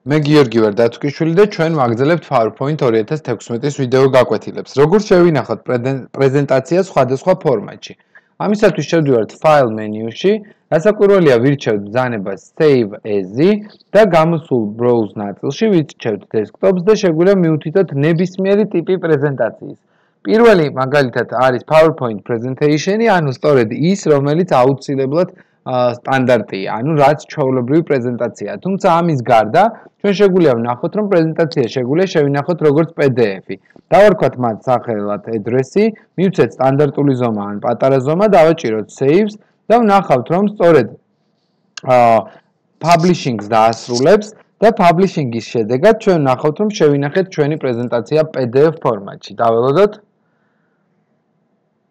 მე გიორგი ვარ დათუქიშვილი და ჩვენ ვაგრძელებთ PowerPoint 2016-ის ვიდეო გაკვეთილებს. Როგორც შევინახოთ პრეზენტაცია სხვადასხვა ფორმატში. ამისათვის შევდივართ File menu-ში, გასაკვირველია ვირჩევთ ბრძანებას Save as-ი და გამოსულ Browse ნაწილში ვირჩევთ Desktops და შეგვიძლია მივუთითოთ ნებისმიერი ტიპი პრეზენტაციის. პირველი მაგალითად არის PowerPoint presentation-ი, ანუ სწორედ ის, რომელიც აუცილებლად სტანდარტია, ანუ რაც ჩვეულებრივი პრეზენტაციაა. თუმცა ამის გარდა ჩვენ შეგვიძლია ვნახოთ, რომ პრეზენტაცია შეგვიძლია შევინახოთ როგორც PDF-ი. დავარქვათ მათ სახელად address-ი, მივცეთ სტანდარტული ზომა ან პატარა ზომა, დავაჭიროთ Saves და ვნახავთ, რომ სწორედ publishing-ს დაასრულებს და publishing-ის შედეგად ჩვენ ვნახავთ, რომ შევინახეთ ჩვენი პრეზენტაცია PDF ფორმატში. დაველოდოთ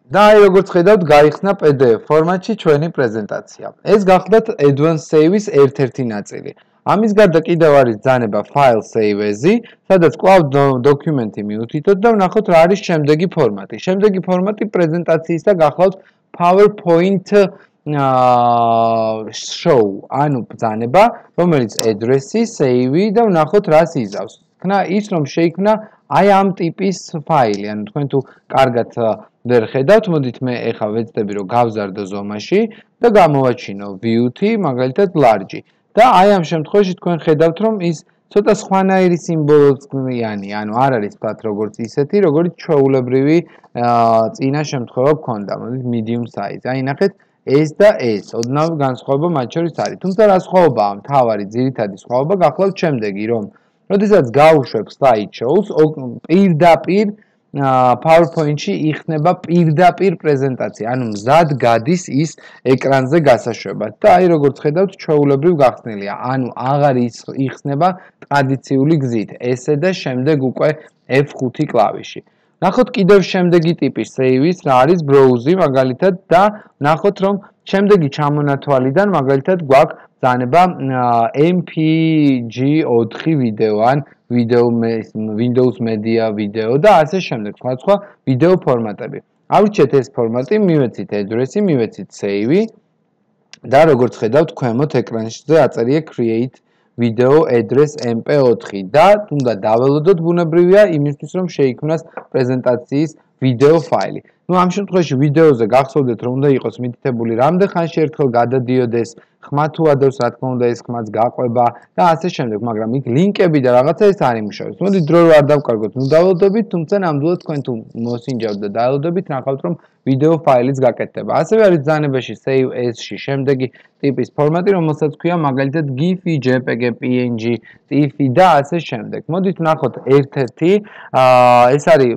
და აი როგორც ხედავთ, გაიხსნა PDF ფორმატში ჩვენი პრეზენტაცია. ეს გახლდათ Advanced Save-ის ერთ-ერთი ნაწილი. ამის გარდა კიდევ არის ბრძანება File Save as-ი, სადაც კვლავ დოკუმენტი მივუთითოთ და ვნახოთ რა არის შემდეგი ფორმატი. შემდეგი ფორმატი პრეზენტაციის და გახლავთ PowerPoint show, ანუ ბრძანება, რომელიც address-ი, save-ი და ვნახოთ რას იზავს. ხნა ის რომ შეიქმნა აი ამ ტიპის ფაილი, ანუ თქვენ თუ კარგად ვერ ხედავთ, მოდით მე ეხა ვეცდები რომ გავზარდო ზომაში და გამოვაჩინო view-ი, მაგალითად large. და აი ამ შემთხვევაში თქვენ ხედავთ, რომ ის ცოტა სხვანაირი სიმბოლოებიანი, ანუ არ არის ვთქვათ როგორც ისეთი, როგორც ჩვეულებრივი წინა შემთხვევა გქონდა, მოდით medium size. აი ნახეთ, ეს და ეს, ოდნავ განსხვავება მათ შორის არის. თუმცა რა სხვაობაა? მთავარი ძირითადი სხვაობა გახლავთ შემდეგი, რომ როდესაც გავუშვებ slideshows, პირდაპირ PowerPoint-ში იხსნება პირდაპირ პრეზენტაცია, ანუ მზად გადის ის ეკრანზე გასაშვებად. და აი როგორც ხედავთ, ჩვეულებრივ გახსნილია, ანუ აღარ იხსნება ტრადიციული გზით, ესე და შემდეგ უკვე F5 კლავიში. ნახოთ კიდევ შემდეგი ტიპი save-ის, რა არის Browse-ი მაგალითად და ნახოთ რომ შემდეგი ჩამონათვალიდან მაგალითად გვაქვს ბრძანება MPG4 ვიდეო ან Windows Media ვიდეო და ასე შემდეგ, სხვა ვიდეო ფორმატები. ავირჩიეთ ეს ფორმატი, მივეცით address-ი, მივეცით save-ი და როგორც ხედავთ, ქვემოთ ეკრანზე აწერია create video address MP4 და თუნდა დაველოდოთ ბუნებრივია იმისთვის რომ შეიქმნას პრეზენტაციის ვიდეო ფაილი. ნუ ამ შემთხვევაში ვიდეოზე გახსოვდეთ რომ უნდა იყოს მითითებული რამდენ ხანში ერთხელ გადადიოდეს, ხმა თუ ადევს, რა თქმა უნდა ეს ხმაც გაყვება და ასე შემდეგ, მაგრამ იქ ლინკები და რაღაცა ეს არ იმუშავებს. მოდით დრო არ დავკარგოთ, ნუ დაველოდებით, თუმცა ნამდვილად თქვენ თუ მოსინჯავთ და დაველოდებით, ნახავთ რომ ვიდეო ფაილიც გაკეთდება. ასევე არის ბრძანებაში Save as-ში შემდეგი ტიპის ფორმატი, რომელსაც ქვია მაგალითად GIF-ი, JPEG, PNG, TIFF-ი და ასე შემდეგ. მოდით ვნახოთ ერთ-ერთი, ეს არის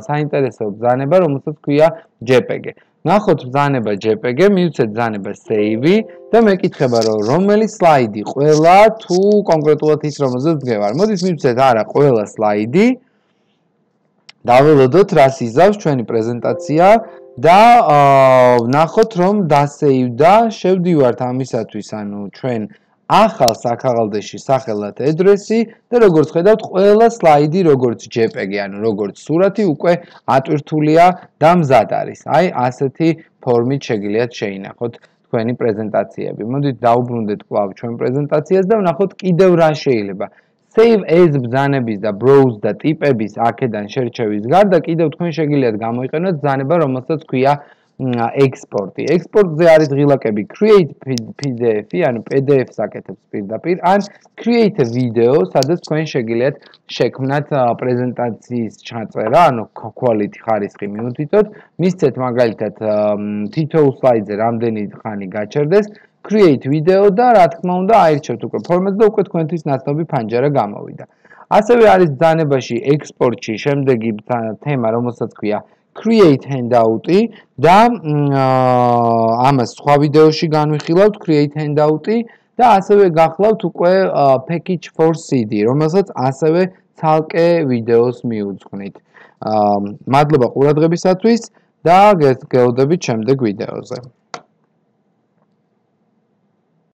საინტერესო ბრძანება, რომელსაც ქვია JPEG. ნახოთ ბრძანება JPEG, მივცეთ ბრძანება Save-ი და მეკითხება რომ რომელი სლაიდი ყველა თუ კონკრეტულად ის რომელზეც დგევარ. მოდით მივცეთ არა ყველა სლაიდი. დაველოდოთ რას იზავს ჩვენი პრეზენტაცია და ვნახოთ რომ დასეივდა, შევდივართ ამისათვის, ანუ ჩვენ ახალ საქაღალდეში სახელად address-ი და როგორც ხედავთ, ყველა სლაიდი როგორც JPEG-ი, ანუ როგორც სურათი უკვე ატვირთულია და მზად არის. აი ასეთი ფორმით შეგიძლიათ შეინახოთ თქვენი პრეზენტაციები. მოდით დაუბრუნდეთ კვლავ ჩვენ პრეზენტაციას და ვნახოთ კიდევ რა შეიძლება. Save as ბრძანების და Browse და ტიპების აქედან შერჩევის გარდა კიდევ თქვენ შეგიძლიათ გამოიყენოთ ბრძანება, რომელსაც ქვია export-ი. Export-ზე არის ღილაკები create PDF-ი, ანუ PDF-ს აკეთებს პირდაპირ, ან create a video, სადაც თქვენ შეგიძლიათ შექმნათ პრეზენტაციის ჩაწერა, ანუ quality ხარისხი მივუთითოთ, მისცეთ მაგალითად თითოეულ სლაიდზე რამდენი ხანი გაჩერდეს, create video და რა თქმა უნდა აირჩევთ უკვე ფორმატს და უკვე თქვენთვის ნაცნობი ფანჯარა გამოვიდა. ასევე არის ბრძანებაში export-ში შემდეგი თემა, რომელსაც ქვია create handout-ი და ამას სხვა ვიდეოში განვიხილავთ create handout-ი და ასევე გახლავთ უკვე package for CD, რომელსაც ასევე ცალკე ვიდეოს მიუძღვნით. მადლობა ყურადღებისათვის და გელოდებით შემდეგ ვიდეოზე.